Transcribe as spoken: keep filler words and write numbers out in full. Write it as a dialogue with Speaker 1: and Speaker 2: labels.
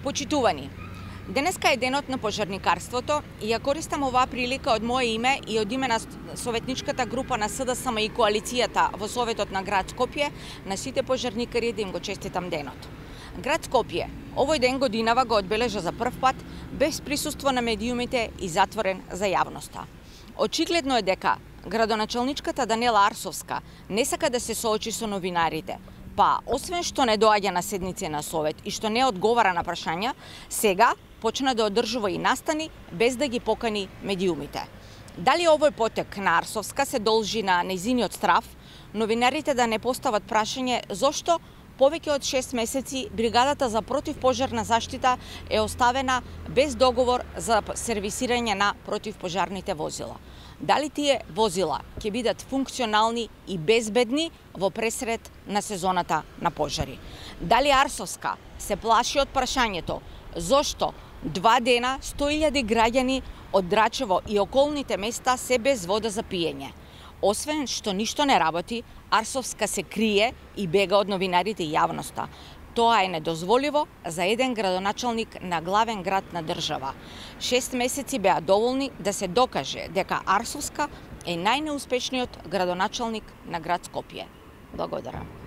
Speaker 1: Почитувани, денеска е денот на пожарникарството и ја користам оваа прилика од моје име и од име на советничката група на СДСМ и коалицијата во Советот на град Скопје на сите пожарникари да им го честитам денот. Град Скопје овој ден годинава го одбележа за прв пат без присуство на медиумите и затворен за јавноста. Очигледно е дека градоначалничката Даниела Арсовска не сака да се соочи со новинарите, па освен што не доаѓа на седници на совет и што не одговара на прашања, сега почна да одржува и настани без да ги покани медиумите. Дали овој потек на Арсовска се должи на нејзиниот страв, новинарите да не постават прашање зошто повеќе од шест месеци бригадата за противпожарна заштита е оставена без договор за сервисирање на противпожарните возила. Дали тие возила ќе бидат функционални и безбедни во пресред на сезоната на пожари? Дали Арсовска се плаши од прашањето зошто два дена сто илјади граѓани од Драчево и околните места се без вода за пиење? Освен што ништо не работи, Арсовска се крие и бега од новинарите и јавноста. Тоа е недозволиво за еден градоначалник на главен град на држава. Шест месеци беа доволни да се докаже дека Арсовска е најнеуспешниот градоначалник на град Скопје. Благодарам.